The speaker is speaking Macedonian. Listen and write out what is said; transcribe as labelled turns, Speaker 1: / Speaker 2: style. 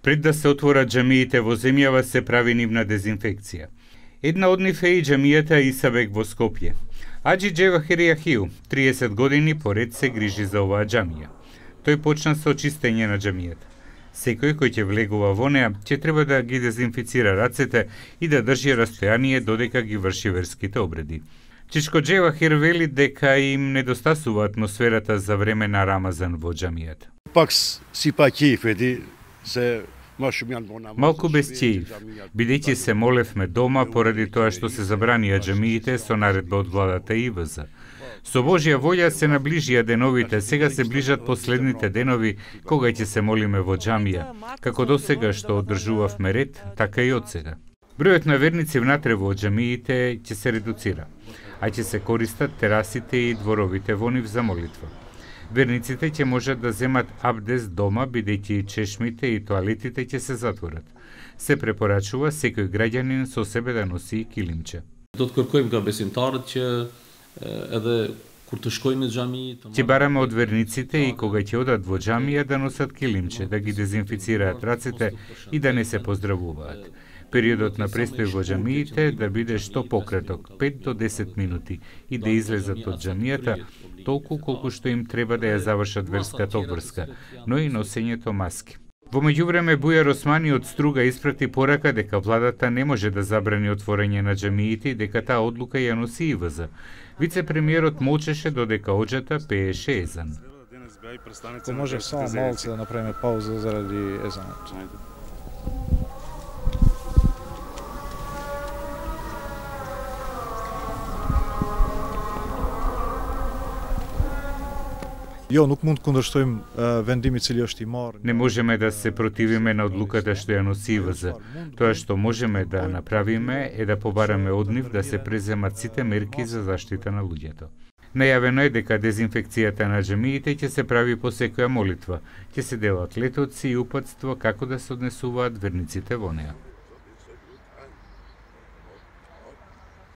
Speaker 1: Пред да се отворат џамиите во земјава се прави нивна дезинфекција. Една од нив е и џамијата Исабек во Скопје. Аџи Џевахир Јахиу 30 години поред се грижи за оваа џамија. Тој почна со чистење на џамијата. Секој кој ќе влегува во неа, ќе треба да ги дезинфицира рацете и да држи растојание додека ги врши верските обреди. Чичко Џевахир вели дека им недостасува атмосферата за време на Рамазан во џамијата. Малку без ќеив, бидејќи се молевме дома поради тоа што се забранија џамиите со наредба од владата ИВЗ. Со Божја волја се наближија деновите, сега се ближат последните денови кога ќе се молиме во џамија, како досега што одржувавме ред, така и од сега. Бројот на верници внатре во џамиите ќе се редуцира, а ќе се користат терасите и дворовите во нив за молитва. Верниците ќе можат да земат абдес дома, бидејќи чешмите и тоалетите ќе се затворат. Се препорачува секој граѓанин со себе да носи и килимче. Ќе бараме од верниците и кога ќе одат во џамија да носат килимче, да ги дезинфицираат рацете и да не се поздравуваат. Периодот на престој во џамиите да биде што пократок, 5 до 10 минути, и да излезат од џамијата толку колку што им треба да ја завршат верската обврска, но и носењето маски. Во меѓувреме Бујар Османи од Струга испрати порака дека владата не може да забрани отворање на џамиите и дека таа одлука ја носи ИВЗ. Вице-премиерот молчеше додека оџата пееше езан.
Speaker 2: Ако може само малце да направиме пауза заради езанот.
Speaker 1: Не можеме да се противиме на одлуката што ја носи ИВЗ. Тоа што можеме да направиме е да побараме од нив да се преземат сите мерки за заштита на луѓето. Најавено е дека дезинфекцијата на џамиите ќе се прави по секоја молитва, ќе се делат летоци и упатства како да се однесуваат верниците во неа.